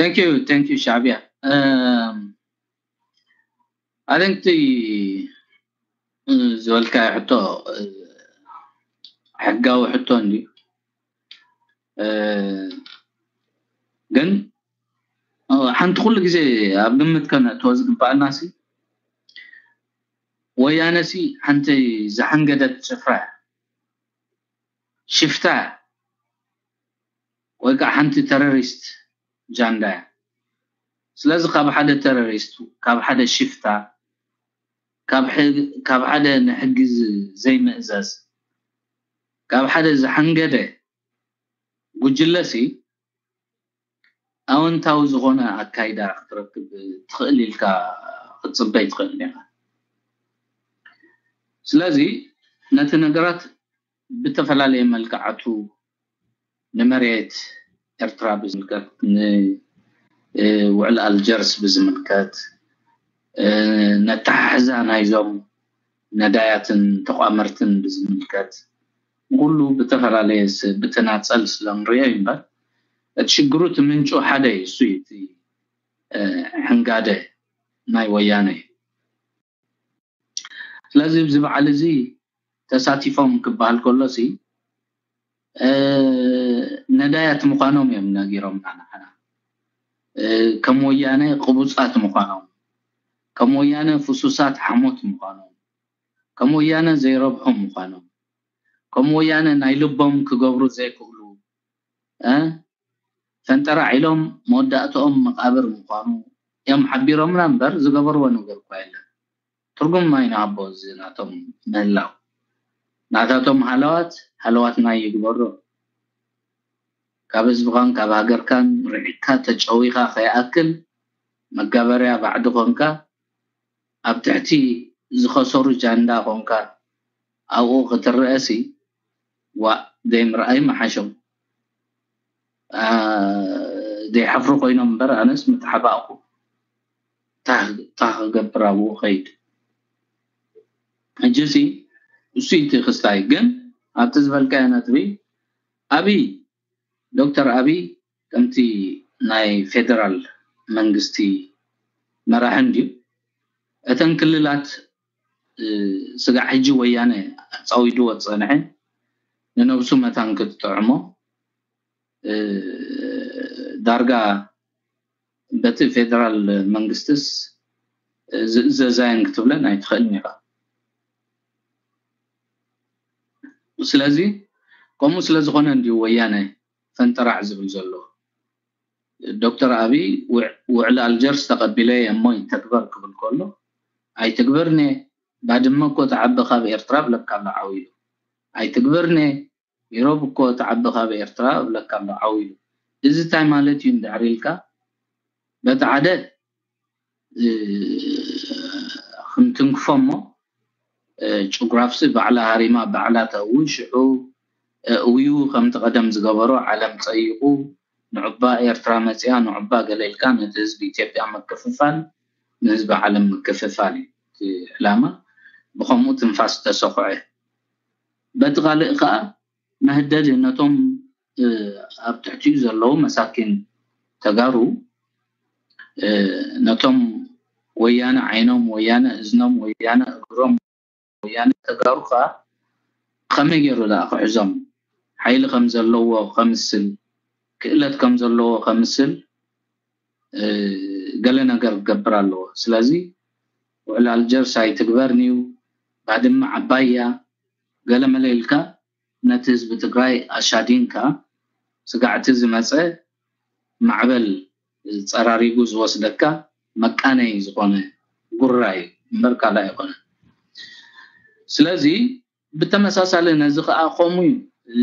Thank you, thank you, ሻዕብያ። Um, I think the ዝበልካዮ ሕቶ ሕጋዊ ሕቶ እንድዩ። ግን ሓንቲ ኩሉ ግዜ ኣብ ግምት ከነእትዎ ዝግባኣና ሲ ወያነ ሲ ሓንቲ ዝሓንገደት ጭፍራ ሽፍታ ወይ ከዓ ሓንቲ ተረሪስት ጃንዳ እያ። ስለዚ ካብ ሓደ ተረሪስት፣ ካብ ሓደ ሽፍታ፣ ካብ ሓደ ንሕጊ ዘይምእዘዝ፣ ካብ ሓደ ዝሓንገደ ጉጅለሲ ኣወንታዊ ዝኾነ ኣካይዳ ክትረክብ ትኽእል ኢልካ ክትፅበይ ትኽእል ኢኻ። ስለዚ ነቲ ነገራት ብተፈላለየ መልክዓቱ ንመሬት ኤርትራ ብዝምልከት፣ ንውዕል ኣልጀርስ ብዝምልከት፣ ነተሓሕዛ ናይዞም ነዳያትን ተቋመርትን ብዝምልከት ንኩሉ ብተፈላለየ ብተናፀል ስለንሪኦ እምበር እቲ ሽግሩ እቲ ምንጩ ሓደ እዩ። እሱ እቲ ሕንጋደ ናይ ወያነ እዩ። ስለዚ ኣብዚ በዓል እዚ ተሳቲፎም ክበሃል ከሎ ሲ ነዳያት ምዃኖም እዮም ነጊሮምና። ንዓና ከም ወያነ ቅቡፃት ምዃኖም፣ ከም ወያነ ፍሱሳት ሓሞት ምዃኖም፣ ከም ወያነ ዘይረብሖም ምዃኖም፣ ከም ወያነ ናይ ልቦም ክገብሩ ዘይክእሉ ፈንጠራዕ ኢሎም መወዳእትኦም መቃብር ምዃኑ እዮም ሓቢሮምና እምበር ዝገበርዎ ነገር እኳ የለን። ትርጉም ኣይንሃቦ እዚ ናቶም ምህላው። ናታቶም ሃለዋት ሃለዋትና ይግበሮ። ካብ ህዝብኻን ካብ ሃገርካን ርሒቕካ ተጨዊኻ ከይኣክል መጋበርያ ባዕዲ ኮንካ ኣብ ትሕቲ ዝኸሰሩ ጃንዳ ኮንካ ኣብኡ ክትረአሲ ዋእ ዘይምርኣይ ምሓሾም። ዘይሓፍሩ ኮይኖም እምበር ኣነስ ምተሓባእኩ። ታ ክገብር ኣብኡ ከይድ። ሕጂ ሲ እሱ እቲ ክስታይ ግን ኣብቲ ዝበልካዮ ነጥቢ ኣብይ ዶክተር ኣብይ ከምቲ ናይ ፌደራል መንግስቲ መራሒ እንድዩ እተን ክልላት ስጋዕ ሕጂ ወያነ ኣፃዊድዎ ዝፀንሐ ንነብሱ መታን ክትጥዕሞ ዳርጋ በቲ ፌደራል መንግስትስ ዝእዘዛየን ክትብለን ኣይትኽእልን ኢኻ። ስለዚ ከምኡ ስለዝኾነ እንድዩ ወያነ ፈንጠራዕ ዝብል ዘሎ። ዶክተር ኣብይ ውዕሊ ኣልጀርስ ተቐቢለ እየ እሞ ይተግበር ክብል ከሎ ኣይትግበርኒ፣ ባድመ እኮ ተዓቢ ካብ ኤርትራ ብለካ ኣሎ ዓው ኢሉ። ኣይትግበርኒ፣ ኢሮብ እኮ ተዓቢ ካብ ኤርትራ ብለካ ኣሎ ዓው ኢሉ። እዚ እንታይ ማለት እዩ እንድሕር ኢልካ በቲ ሓደ ክንትንክፎ እሞ ጭጉራፍሲ ባዕላ ሃሪማ ባዕላ ተእዊ ሽዑ እውዩ ከምቲ ቀደም ዝገበሮ ዓለም ፀይቑ ንዑባ ኤርትራ መፅያ ንዑባ ገለ ኢልካ ነቲ ህዝቢ ኢትዮጵያ ምክፍፋል ንህዝቢ ዓለም ምክፍፋል እዩ እቲ ዕላማ። ብኸምኡ ትንፋስ ተሰኹዐ። በቲ ካልእ ከዓ መህደዲ ነቶም ኣብ ትሕቲኡ ዘለዉ መሳኪን ተጋሩ ነቶም ወያነ ዓይኖም ወያነ እዝኖም ወያነ እግሮም ወያነ ተጋሩ ከዓ ከመይ ገይሩ ደኣ ክሕዞም ሓይሊ ከም ዘለዎ ከምስል ክእለት ከም ዘለዎ ከምስል ገለ ነገር ክገብር ኣለዎ። ስለዚ ውዕል ኣልጀርስ ኣይትግበር ንዩ ባድመ ዓባይ እያ ገለመለ ኢልካ ነቲ ህዝቢ ትግራይ ኣሻዲንካ ስጋዕቲ ዝመፀ ማዕበል ፀራሪጉ ዝወስደካ መቃነይ ዝኾነ ጉራ እዩ እምበር ካልእ ኣይኮነን። ስለዚ ብተመሳሳሊ ነዚ ከዓ ከምኡ እዩ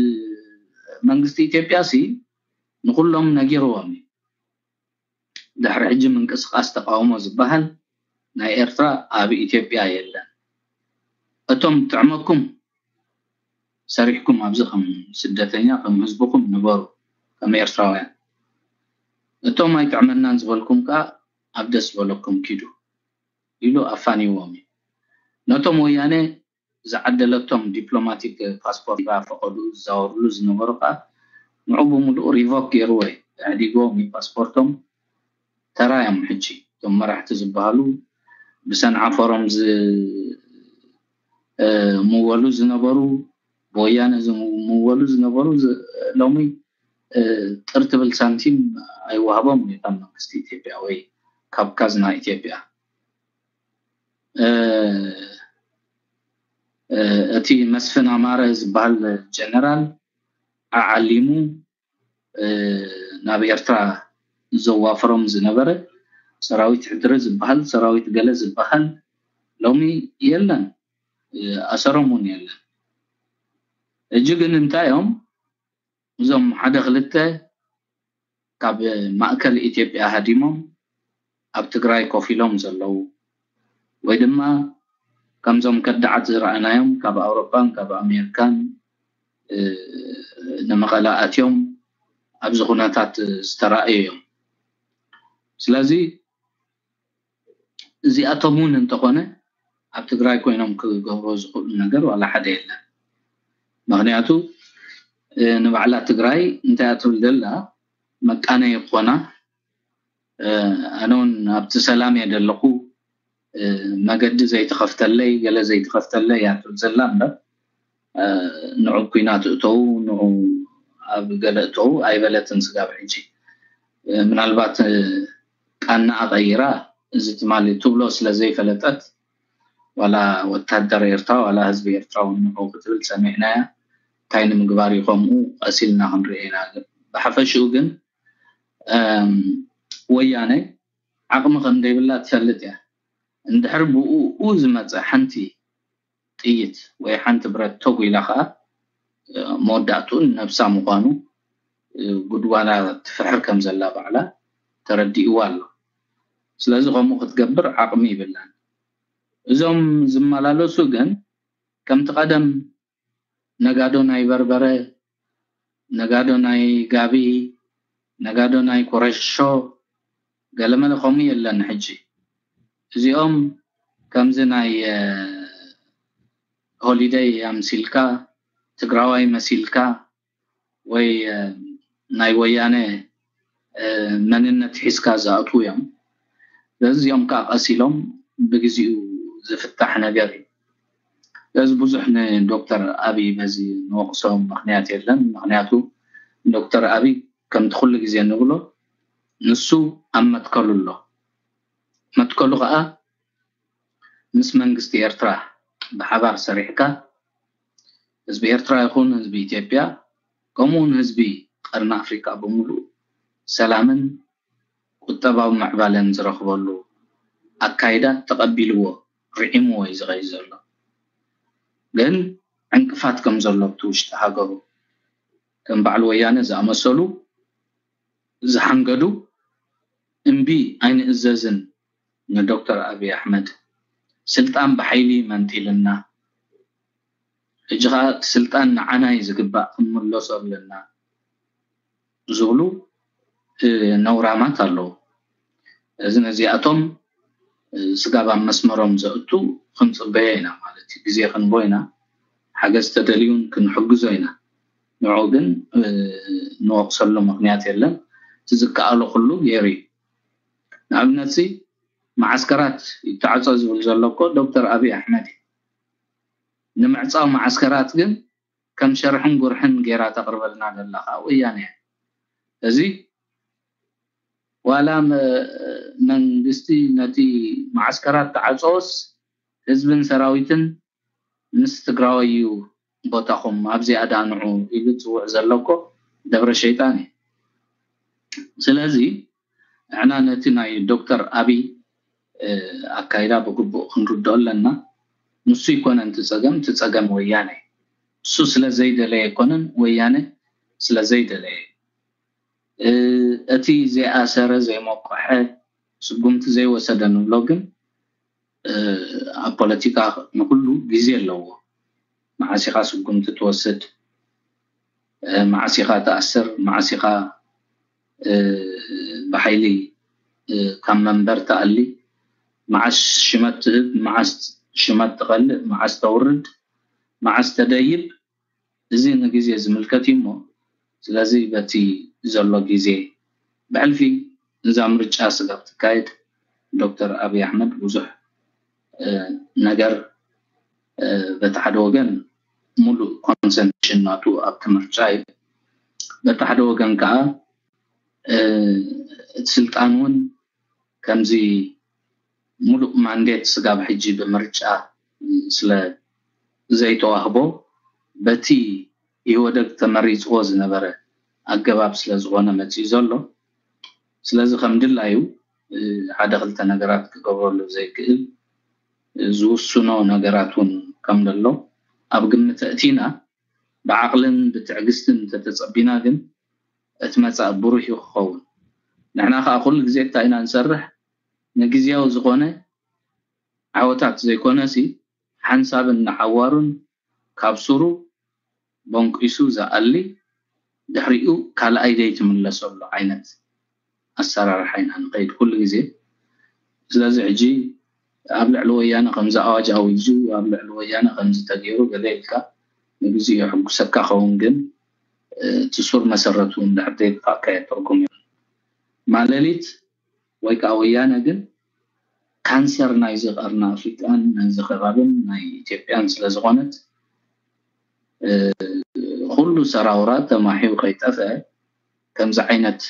መንግስቲ ኢትዮጵያ ሲ ንኩሎም ነጊርዎም እዩ። ድሕሪ ሕጂ ምንቅስቃስ ተቃውሞ ዝበሃል ናይ ኤርትራ ኣብ ኢትዮጵያ የለን። እቶም ጥዕመኩም ሰሪሕኩም ኣብዚ ከም ስደተኛ ከም ህዝብኩም ንበሩ ከም ኤርትራውያን። እቶም ኣይጥዕመናን ዝበልኩም ከዓ ኣብ ደስ ዝበለኩም ኪዱ ኢሉ ኣፋኒዎም እዩ። ነቶም ወያነ ዝዓደለቶም ዲፕሎማቲክ ፓስፖርት ፈቐዱ ዝዛወርሉ ዝነበሩ ከዓ ንዑ ብምሉኡ ሪቮክ ገይርዎ እዩ። ኣዕዲግዎም እዩ ፓስፖርቶም። ተራ እዮም። ሕጂ እቶም መራሕቲ ዝበሃሉ ብሰንዓ ፎረም ዝምወሉ ዝነበሩ፣ ብወያነ ዝምወሉ ዝነበሩ ሎሚ ጥር ትብል ሳንቲም ኣይወሃቦም ካብ መንግስቲ ኢትዮጵያ ወይ ካብ ካዝና ኢትዮጵያ። እቲ መስፍን ኣማረ ዝበሃል ጀነራል ኣዓሊሙ ናብ ኤርትራ ዘዋፍሮም ዝነበረ ሰራዊት ሕድሪ ዝበሃል፣ ሰራዊት ገለ ዝበሃል ሎሚ የለን፣ ኣሰሮም እውን የለን። እጂ ግን እንታይ እዮም እዞም ሓደ ክልተ ካብ ማእከል ኢትዮጵያ ሃዲሞም ኣብ ትግራይ ኮፍ ኢሎም ዘለዉ ወይ ድማ ከምዞም ከዳዓት ዝረኣናዮም ካብ ኣውሮፓን ካብ ኣሜሪካን ንምቐለ ኣትዮም ኣብዚ ኩነታት ዝተረኣዩ እዮም። ስለዚ እዚኣቶም እውን እንተኾነ ኣብ ትግራይ ኮይኖም ክገብሮ ዝኽእሉ ነገር ዋላ ሓደ የለን። ምክንያቱ ንባዕላ ትግራይ እንታይ እያ ትብል ዘላ፣ መቃነይ ይኾና፣ ኣነ እውን ኣብቲ ሰላም እየ ዘለኹ፣ መገዲ ዘይተኸፍተለይ፣ ገለ ዘይተኸፍተለይ እያ ትብል ዘላ እምበር ንዑ ኩናት እተው፣ ንዑ ኣብ ገለ እተው ኣይበለትን ስጋብ ሕጂ። ምናልባት ቃና ኣቐይራ እዚ ትማሊ ትብሎ ስለ ዘይፈለጠት ዋላ ወታደር ኤርትራ ዋላ ህዝቢ ኤርትራ እውን ንዑ ክትብል ሰሚዕናያ። እንታይ ንምግባር እዩ ከምኡ ቀሲልና ክንርኢ ኢና። ብሓፈሽኡ ግን ወያነ ዓቕሚ ከም ዘይብላ ትፈልጥ እያ። እንድሕር ብኡ ዝመፀ ሓንቲ ጥይት ወይ ሓንቲ ብረት ተጉ ኢላ ከዓ መወዳእትኡን ነብሳ ምዃኑ ጉድጓዳ ትፍሕር ከም ዘላ ባዕላ ተረዲእዋ ኣሎ። ስለዚ ከምኡ ክትገብር ዓቕሚ ይብላን። እዞም ዝመላለሱ ግን ከምቲ ቀደም ነጋዶ ናይ በርበረ፣ ነጋዶ ናይ ጋቢ፣ ነጋዶ ናይ ኮረሾ፣ ገለመለ ከምኡ የለን። ሕጂ እዚኦም ከምዚ ናይ ሆሊደይ ኣምሲልካ፣ ትግራዋይ መሲልካ ወይ ናይ ወያነ መንነት ሒዝካ ዝኣትዉ እዮም። ስለዚ እዚኦም ከዓ ቀስ ኢሎም ብግዚኡ ዝፍታሕ ነገር እዩ። ስለዚ ብዙሕ ንዶክተር ኣብይ በዚ ንወቕሶ ምክንያት የለን። ምክንያቱ ዶክተር ኣብይ ከምቲ ኩሉ ግዜ ንብሎ ንሱ ኣብ መትከሉ ኣሎ። መትከሉ ከዓ ምስ መንግስቲ ኤርትራ ብሓባር ሰሪሕካ ህዝቢ ኤርትራ ይኹን ህዝቢ ኢትዮጵያ ከምኡውን ህዝቢ ቀርኒ ኣፍሪካ ብምሉእ ሰላምን ቁጠባዊ ምዕባለን ዝረኽበሉ ኣካይዳ ተቐቢልዎ ርዒምዎ እዩ ዝኸይድ ዘሎ። ግን ዕንቅፋት ከም ዘሎ ኣብቲ ውሽጢ ሃገሩ ከም በዓል ወያነ ዝኣመሰሉ ዝሓንገዱ እምቢ ኣይንእዘዝን ንዶክተር ኣብይ ኣሕመድ ስልጣን ብሓይሊ መንጢልና፣ ሕጂ ከዓ እቲ ስልጣን ንዓና እዩ ዝግባእ ክንምለሶ ኣለና ዝብሉ ነውራማት ኣለዉ። እዚ ነዚኣቶም ስጋብ ኣብ መስመሮም ዘእቱ ክንፅበዮ ኢና ማለት እዩ። ግዜ ክንቦ ኢና፣ ሓገዝ ተደልዩን ክንሕግዞ ኢና። ንዑ ግን ንወቕሰሉ ምክንያት የለን። እቲ ዝከኣሎ ኩሉ ገይሩ እዩ። ንኣብነት ሲ መዓስከራት ይተዓፀ ዝብል ዘሎ እኮ ዶክተር ኣብይ ኣሕመድ እዩ። ንምዕፃው መዓስከራት ግን ከም ሸርሕን ጉርሕን ገይራ ተቕርበልና ዘላ ከዓ ወያነ እያ። እዚ ዋላ መንግስቲ ነቲ መዓስከራት ተዓፀወስ ህዝብን ሰራዊትን ምስ ትግራዋይ እዩ ቦታኹም ኣብዚኣ ዳንዑ ኢሉ ዝፅውዕ ዘሎ እኮ ደብረ ሸይጣን እዩ። ስለዚ ንሕና ነቲ ናይ ዶክተር ኣብይ ኣካይዳ ብግቡእ ክንርድኦ ኣለና። ንሱ ይኮነን እቲ ፀገም፣ እቲ ፀገም ወያነ እዩ። እሱ ስለ ዘይደለየ ኣይኮነን፣ ወያነ ስለ ዘይደለየ። እቲ ዘይኣሰረ፣ ዘይሞቀሐ፣ ስጉምቲ ዘይወሰደ ንብሎ ግን ኣብ ፖለቲካ ንኩሉ ግዜ ኣለዎ። መዓስ ኢኻ ስጉምቲ ትወስድ፣ መዓስ ኢኻ ትኣስር፣ መዓስ ኢኻ ብሓይሊ ካብ መንበር ትኣሊ፣ መዓስ ሽመት ትህብ፣ መዓስ ሽመት ትቐልእ፣ መዓስ ተውርድ፣ መዓስ ተደይብ፣ እዚ ንግዜ ዝምልከት እዩ እሞ፣ ስለዚ በቲ ዘሎ ግዜ ብሕልፊ እዛ ምርጫ ስጋብ ትካየድ ዶክተር ኣብይ ኣሕመድ ብዙሕ ነገር በቲ ሓደ ወገን ሙሉእ ኮንሰንትሬሽን ናቱ ኣብቲ ምርጫ እዩ። በቲ ሓደ ወገን ከዓ እቲ ስልጣን እውን ከምዚ ሙሉእ ማንዴት ስጋብ ሕጂ ብምርጫ ስለ ዘይተዋህቦ በቲ ኢህወደግ ተመሪፅዎ ዝነበረ ኣገባብ ስለ ዝኾነ መፂኡ ዘሎ። ስለዚ ከም ድላዩ ሓደ ክልተ ነገራት ክገብረሉ ዘይክእል ዝውስኖ ነገራት እውን ከም ዘሎ ኣብ ግምት ኣእቲና ብዓቕልን ብትዕግስትን እንተተፀቢና ግን እቲ መፃኢ ብሩህ እዩ ክኸውን። ንሕና ከዓ ኩሉ ግዜ እንታይ ኢና ንሰርሕ? ንግዝያዊ ዝኾነ ዓወታት ዘይኮነሲ ሓንሳብን ንሓዋሩን ካብ ሱሩ ቦንቂሱ ዝኣሊ ድሕሪኡ ካልኣይ ዘይትምለሰሉ ዓይነት ኣሰራርሓ ኢና ንኸይድ ኩሉ ግዜ። ስለዚ ሕጂ ኣብ ልዕሊ ወያነ ከምዚ ኣዋጅ ኣዊጁ ኣብ ልዕሊ ወያነ ከምዚ ተገይሩ ገለ ኢልካ ንግዜኡ የሕጉሰካ ኸውን ግን እቲ ሱር መሰረቱ እንድሕር ዘይጥፋእካ ትርጉም የብሉን። ማለሊት ወይ ከዓ ወያነ ግን ካንሰር ናይዚ ቀርኒ ኣፍሪቃን ናይዚ ከባብን ናይ ኢትዮጵያን ስለዝኾነት ኩሉ ሰራውራ ተማሒው ከይጠፍአ ከምዚ ዓይነት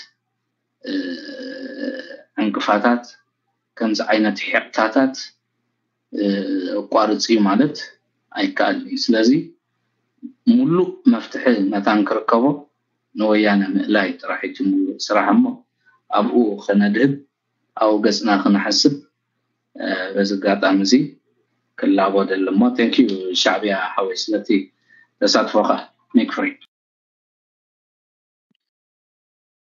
ዕንቅፋታት ከምዚ ዓይነት ሒቕታታት ኣቋርፅ እዩ ማለት ኣይከኣልን እዩ። ስለዚ ሙሉእ መፍትሒ መታን ክርከቦ ንወያነ ምእላይ ጥራሕ እቲ ሙሉእ ስራሕ እሞ ኣብኡ ከነድህብ ኣብኡ ገፅና ክንሓስብ በዚ ኣጋጣሚ እዚ ክላቦ ደሊ እሞ። Thank you ሻዕብያ ሓወይ ስለቲ ተሳትፎኻ። Make free።